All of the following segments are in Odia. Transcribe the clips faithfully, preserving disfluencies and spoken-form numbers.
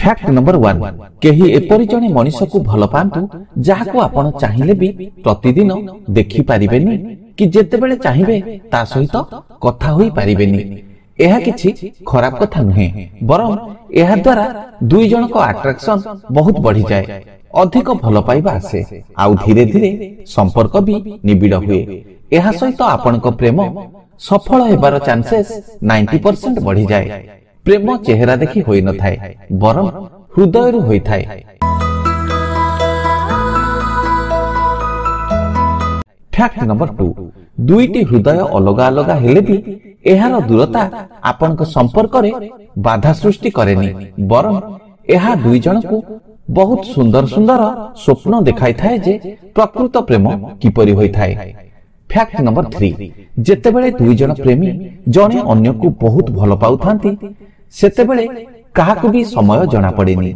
ଫ୍ୟାକ୍ଟ ନମ୍ବର ୱାନ୍ କେହି ଏପରି ଜଣେ ମଣିଷକୁ ଭଲ ପାଆନ୍ତୁ ଯାହାକୁ ଆପଣ ଚାହିଁଲେ ବି ପ୍ରତିଦିନ ଦେଖିପାରିବେନି କି ଯେତେବେଳେ ଚାହିଁବେ ତା ସହିତ କଥା ହୋଇପାରିବେନି ଏହା କିଛି ଖରାପ କଥା ନୁହେଁ ବରଂ ଏହା ଦ୍ୱାରା ଦୁଇ ଜଣଙ୍କ ଆଟ୍ରାକ୍ସନ ବହୁତ ବଢିଯାଏ ଅଧିକ ଭଲ ପାଇବା ଆସେ ଆଉ ଧୀରେ ଧୀରେ ସମ୍ପର୍କ ବି ନିବିଡ଼ ହୁଏ ଏହା ସହିତ ଆପଣଙ୍କ ପ୍ରେମ ସଫଳ ହେବାର ଚାନ୍ସେସ୍ ନାଇଣ୍ଟି ପରସେଣ୍ଟ ବଢିଯାଏ ପ୍ରେମ ଚେହେରା ଦେଖି ହୋଇନଥାଏ ବରଂ ହୃଦୟରୁ ହୋଇଥାଏ ଫ୍ୟାକ୍ଟ ନମ୍ବର ଟୁ ଦୁଇଟି ହୃଦୟ ଅଲଗା ଅଲଗା ହେଲେ ବି ଏହାର ଦୂରତା ଆପଣଙ୍କ ସମ୍ପର୍କରେ ବାଧା ସୃଷ୍ଟି କରେନି ବରଂ ଏହା ଦୁଇ ଜଣଙ୍କୁ ବହୁତ ସୁନ୍ଦର ସୁନ୍ଦର ସ୍ୱପ୍ନ ଦେଖାଇଥାଏ ଯେ ପ୍ରକୃତ ପ୍ରେମ କିପରି ହୋଇଥାଏ ଫ୍ୟାକ୍ଟ ନମ୍ବର ଥ୍ରୀ ଯେତେବେଳେ ଦୁଇ ଜଣ ପ୍ରେମୀ ଜଣେ ଅନ୍ୟକୁ ବହୁତ ଭଲ ପାଉଥାନ୍ତି ସେତେବେଳେ କାହାକୁ ବି ସମୟ ଜଣାପଡ଼େନି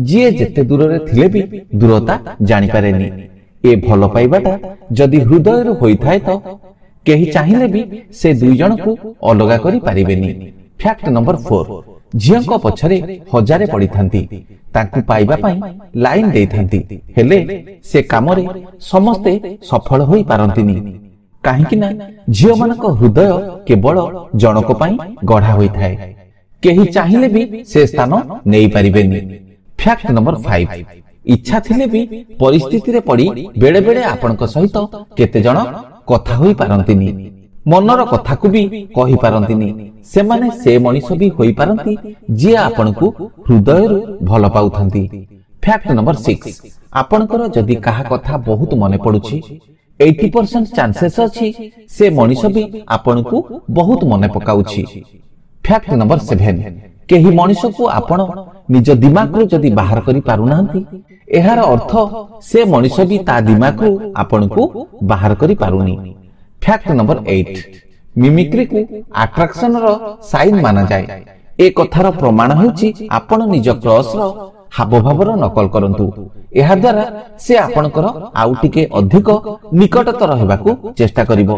ଯିଏ ଯେତେ ଦୂରରେ ଥିଲେ ବି ଦୂରତା ଜାଣିପାରେନି ଏ ଭଲ ପାଇବାଟା ଯଦି ହୃଦୟରୁ ହୋଇଥାଏ ତ କେହି ଚାହିଁଲେ ବି ସେ ଦୁଇ ଜଣଙ୍କୁ ଅଲଗା କରିପାରିବେନି ଫ୍ୟାକ୍ଟ ନମ୍ବର ଫୋର ଝିଅଙ୍କ ପଛରେ ହଜାରେ ପଡ଼ିଥାନ୍ତି ତାଙ୍କୁ ପାଇବା ପାଇଁ ଲାଇନ ଦେଇଥାନ୍ତି ହେଲେ ସେ କାମରେ ସମସ୍ତେ ସଫଳ ହୋଇପାରନ୍ତିନି କାହିଁକି ନା ଝିଅମାନଙ୍କ ହୃଦୟ କେବଳ ଜଣକ ପାଇଁ ଗଢା ହୋଇଥାଏ କେହି ଚାହିଁଲେ ବି ସେ ସ୍ଥାନ ନେଇପାରିବେନି ଫ୍ୟାକ୍ଟ ନମ୍ବର ଫାଇଭ ଇଚ୍ଛା ଥିଲେ ବି ପରିସ୍ଥିତିରେ ପଡ଼ି ବେଳେ ବେଳେ ଆପଣଙ୍କ ସହିତ କେତେ ଜଣ କଥା ହୋଇପାରନ୍ତିନି ମନର କଥାକୁ ବି କହିପାରନ୍ତିନି ସେମାନେ ସେ ମଣିଷ ବି ହୋଇପାରନ୍ତି ଯିଏ ଆପଣଙ୍କୁ ହୃଦୟରୁ ଭଲ ପାଉଥାନ୍ତି ଫ୍ୟାକ୍ଟ ନମ୍ବର ସିକ୍ସ ଆପଣଙ୍କର ଯଦି କାହା କଥା ବହୁତ ମନେ ପଡୁଛି ଏଇଟି ପରସେଣ୍ଟ ଚାନ୍ସେସ୍ ଅଛି ସେ ମଣିଷ ବି ଆପଣଙ୍କୁ ବହୁତ ମନେ ପକାଉଛି ଫ୍ୟାକ୍ଟ ନମ୍ବର ସେଭେନ କେହି ମଣିଷକୁ ଆପଣ ନିଜ ଦିମାଗରୁ ଯଦି ବାହାର କରି ପାରୁନାହାନ୍ତି ଏହାର ଅର୍ଥ ସେ ମଣିଷ ବି ତା ଦିମାଗରୁ ଆପଣଙ୍କୁ ବାହାର କରି ପାରୁନି ଫ୍ୟାକ୍ଟ ନମ୍ବର ଏଇଟ ମିମିକ୍ରିକୁ ଆଟ୍ରାକ୍ସନର ସାଇନ୍ ମାନାଯାଏ ଏ କଥାର ପ୍ରମାଣ ହେଉଛି ଆପଣ ନିଜ କ୍ରସର ହାବଭାବର ନକଲ କରନ୍ତୁ ଏହାଦ୍ୱାରା ସେ ଆପଣଙ୍କର ଆଉ ଟିକେ ଅଧିକ ନିକଟତର ହେବାକୁ ଚେଷ୍ଟା କରିବ